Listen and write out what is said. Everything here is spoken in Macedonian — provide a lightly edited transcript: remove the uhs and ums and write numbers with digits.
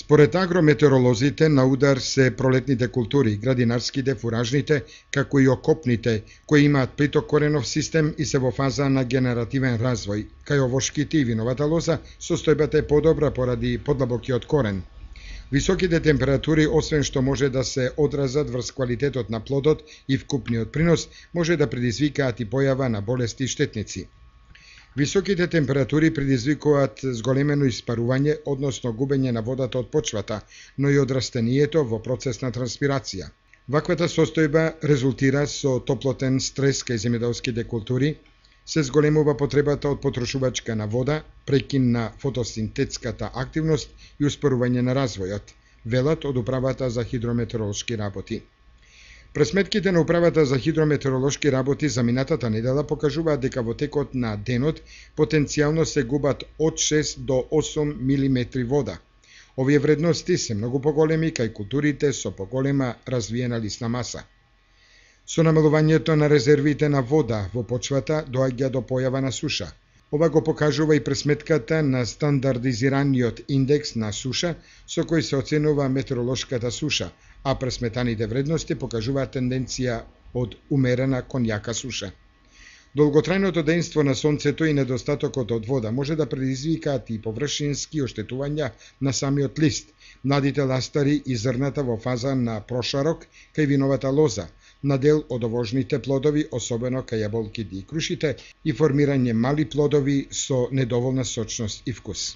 Според агрометеоролозите, на удар се пролетните култури, градинарските, фуражните, како и окопните, кои имаат плиток коренов систем и се во фаза на генеративен развој. Кај овошките и виновата лоза, состојбата е подобра поради подлабокиот корен. Високите температури, освен што може да се одразат врз квалитетот на плодот и вкупниот принос, може да предизвикаат и појава на болести и штетници. Високите температури предизвикуваат зголемено испарување, односно губење на водата од почвата, но и од растението во процес на транспирација. Ваквата состојба резултира со топлотен стрес кај земјоделските култури, се зголемува потребата од потрошувачка на вода, прекин на фотосинтетската активност и успорување на развојот, велат од Управата за хидрометеоролошки работи. Пресметките на Управата за хидрометеоролошки работи за минатата недела покажуваат дека во текот на денот потенцијално се губат од 6 до 8 милиметри вода. Овие вредности се многу поголеми кај културите со поголема развиена лисна маса. Со намалувањето на резервите на вода во почвата доаѓа до појава на суша. Ова го покажува и пресметката на стандардизираниот индекс на суша со кој се оценува метеоролошката суша, а пресметаните вредности покажуваат тенденција од умерена кон јака суша. Долготрајното дејство на сонцето и недостатокот од вода може да предизвикаат и површински оштетувања на самиот лист, младите ластари и зрната во фаза на прошарок кај виновата лоза, на дел од овожните плодови, особено кај јаболките и крушите, и формирање мали плодови со недоволна сочност и вкус.